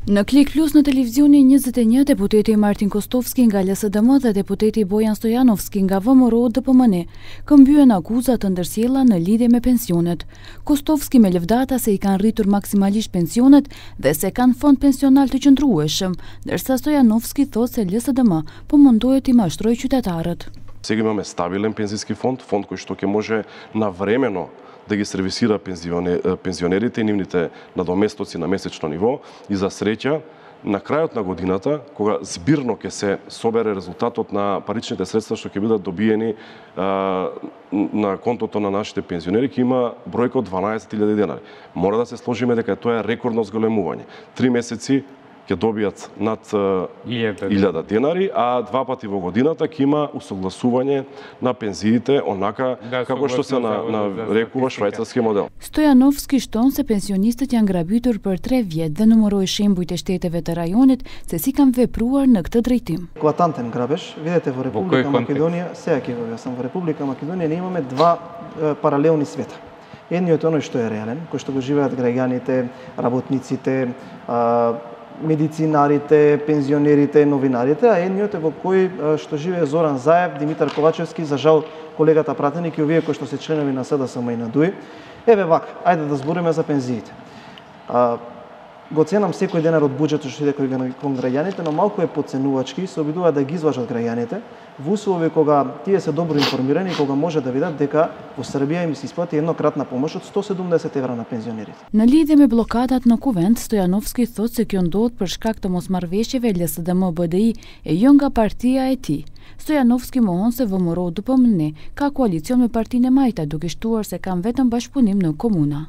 На Клик Плюс на телевизиони 21 депутети Мартин Костовски nga ЛСДМ dhe deputeti Bojan Stojanovski nga VMRO DPMN këmbyen akuzat të ndërsjella në lidhje me pensionet. Kostovski me lëvdata se i kanë rritur maksimalisht pensionet dhe se kanë fond pensional të qëndrueshëm, ndërsa Stojanovski thotë se ЛСДМ po mundohet t'i mashtrojë qytetarët. Сега имаме стабилен пензijski фонд кој што ќе може навремено да ги сервисира пензионерите и нивните надоместоци на месечно ниво и за среќа на крајот на годината, кога збирно ќе се собере резултатот на паричните средства што ќе бидат добиени на контото на нашите пензионери, ќе има бројка од 12.000 денари. Мора да се сложиме дека тоа е рекордно зголемување. 3 месеци ќе добијат над 1000 денари, а 2 пати во годината ќе има усогласување на пензиите онака како што се нарекува швајцарски модел. Stojanovski shton se pensionistët janë grabitur për 3 vjet dhe numëroi shembujt e shteteve të rajonit se si kanë vepruar në këtë drejtim. Екватантен грабеж. Видете во Република Македонија, сега ќе го објаснам, во Република Македонија не имаме два паралелни света. Едниот е оној што е реален, кој што го живеат граѓаните, работниците, медицинарите, пензионерите, новинарите, а едниот е во кој што живее Зоран Заев, Димитар Ковачевски, за жал колегата пратеник и овие кои што се членови на СДСМ и на ДУИ. Еве вака, ајде да збориме за пензиите. Го ценам секој денар од буџетот што иде кон граѓаните, но малку е подценувачки, се обидува да ги изважат граѓаните во услови кога тие се добро информирани и кога може да видат дека во Србија им се исплати еднократна помош од 170 евра на пензионерите. Në lidhje me bllokadat në Kuvend, Stojanovski thotë se kjo ndodh për shkak të mosmarrëveshjeve LSDM BDI e jo nga partia e tij. Stojanovski mohon se VMRO DPMN ka koalicion me Partinë e Majta, duke shtuar se kanë vetëm bashkëpunim në komuna.